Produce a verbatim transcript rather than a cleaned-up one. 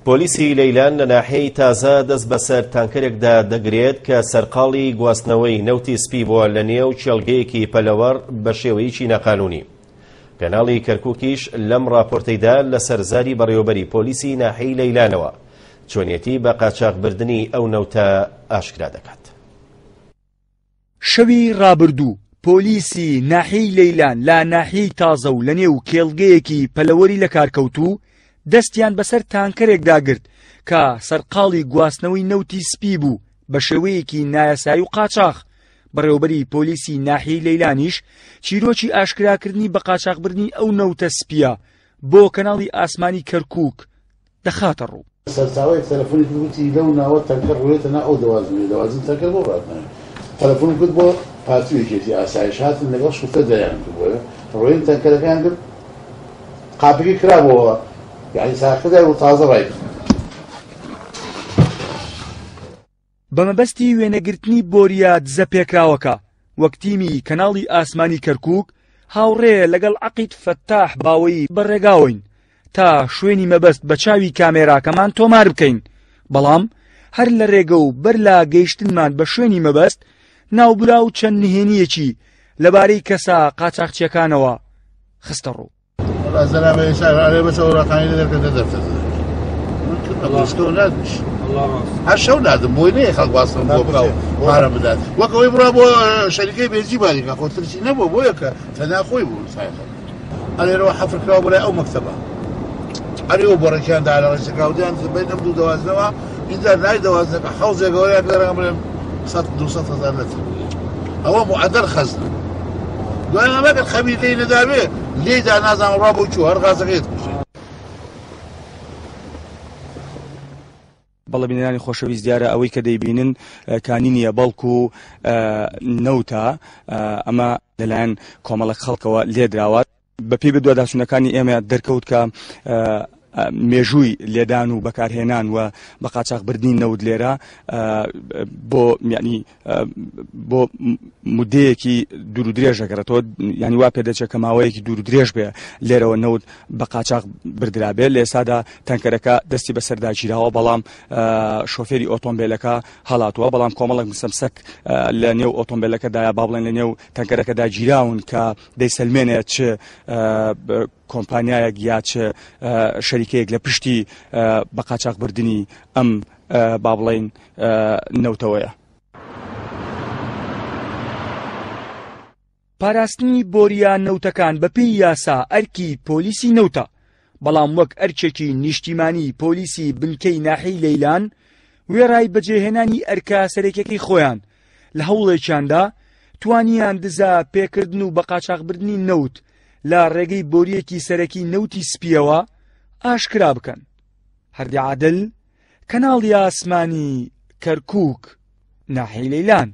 پۆلیسی لەیلان لە ناحیەی تازە دەست بەسەر تانکەرێکدا دەگرێت کە سەرقاڵی گواستنەوەی نەوتی سپی بووە لە نێو کێڵگەیەکی پەلەوەڕ بە شێوەیەکی ناقانونی. کەناڵی کەرکووکیش لەم راپۆرتەیدا لەسەر زاری بەڕێوەبەری پۆلیسی ناحیەی لەیلانەوە چۆنیەتی بە قاچاخبردنی ئەو نەوتە ئاشکرا دەکات. شەوی ڕابردوو پۆلیسی ناحیەی لەیلان لە ناحیەی تازە و لە نێو کێڵگەیەکی پەلەوەری لەکارکەوتوو دەستیان بەسەر تانکەرێکدا گرت کە سەرقاڵی گواستنەوەی نەوتی سپی بوو بە شێوەیەکی نایاسایی و قاچاخ. بەڕێوەبەری پۆلیسی ناحیەی لەیلانیش چیرۆکی ئاشکراکردنی بە قاچاخبردنی ئەو نەوتە سپیە بۆ کەناڵی ئاسمانی کەرکووک دەخاتە ڕوو. سەرچاوەیەک تەلەفۆنی کرد وتی لەو ناوە تەنکەر ڕوێتە نا ئەو دەوازنێ دەوازن تەنکەر بۆ ڕاتناوێ. تەلەفۆن کرد بۆ پارتی و یەکێتی ئاسایش هاتن لەگەڵ شوفێر دەیان کرد بۆیە ڕۆین تەنکەرەکەیان کرد قاپەکەی کرابووەوە یعنی ساکردای و تازە ڕای کرد. بە مەبەستی وێنەگرتنی بۆریە دزە پێکراوەکە وەک تیمی کەناڵی ئاسمانی کەرکووک هاوڕێ لەگەڵ عەقید فەتاح باوەیی بەڕێگاوەین تا شوێنی مەبەست بە چاوی کامێراکەمان تۆمار بکەین، بەڵام هەر لە ڕێگە و بەر لە گەیشتنمان بە شوێنی مەبەست ناوبراو چەند نهێنییەکی لەبارەی کەسە قاچاخچیەکانەوە خستە ڕوو. وەڵا زەرابە ئێستا ئەرێ بەس ئەوراقانی لێ دەرکردە دەفتەر نادمیش هەر شەو نادم بۆی نەیە خەڵک واستم بۆ بکا و پارە بدات وەک ئەوەی بڕا بۆ شەریکەی بێزی باریکا خۆ ترسی نەبووە بۆیە کە تەنها خۆی بوو سایەقە ئەلێرەوە حەفر کراوە بۆ لای ئەو مەکتەبە ئەرێ ئەو بۆڕێکیان دا لە ڕێچەکە و دیان بین ئەم دوو دەوازنەوە ئینجا لای دەوازنەکە حەوزێک گەورەیان لێرە بڵێن سەد دوو سەد هەزار لەتر ئەوە معەدەل خەزنە دوای ئەمە خەبیر لێی نەدابێ لێیدا نازانم ڕا بۆ چوو هەر غازەکەی کوشت. بەڵێ بینەرانی خۆشەویست، دیارە ئەوەی کە دەیبینن کانی نییە بەڵکو نەوتە، ئەمە لەلایەن کۆمەڵک خەڵکەوە لێدراوە. بەپێی بەدواداچوونەکانی ئێمە دەرکەوت کە مێژووی لێدان و بەکارهێنان و بە قاچاخبردنی نەوت لێرە بۆ یعنی بۆ مدەیەکی دوور و درێژ دەگەڕێتەوە، یعنی وا پێدەچێت کە ماوەیەکی دوور و درێژ بێ لێرەوە نەوت بە قاچاخ بردرابێ. لە ئێستادا تەنکەرەکە دەستی بەسەردا گیراوە، بەڵام شۆفێری ئۆتۆمبیلەکە هەڵاتووە، بەڵام کۆمەڵێک مسەمسەک لە نێو ئۆتۆمبیلەکەدایە، با بڵێن لە نێو تەنکەرەکەدا گیراون کە دەیسەلمێنێت چ کۆمپانیایەک یا چ شەریکەیەک لە پشتی بە قاچاخبردنی ئەم با بڵێین نەوتەوەیە. پاراستنی بۆریە نەوتەکان بەپێی یاسا ئەرکی پۆلیسی نەوتە، بەڵام وەک ئەرکێکی نیشتیمانی پۆلیسی بنکەی ناحیەی لەیلان وێڕای بەجێهێنانی ئەرکە سەرەکیەکەی خۆیان لە هەوڵێکیاندا توانیان دزە پێکردن و بە قاچاخبردنی نەوت لە ڕێگەی بۆریەکی سەرەکی نەوتی سپیەوە ئاشکرا بکەن. هەردی عادل، کەناڵی ئاسمانی کەرکووک، ناحیەی لەیلان.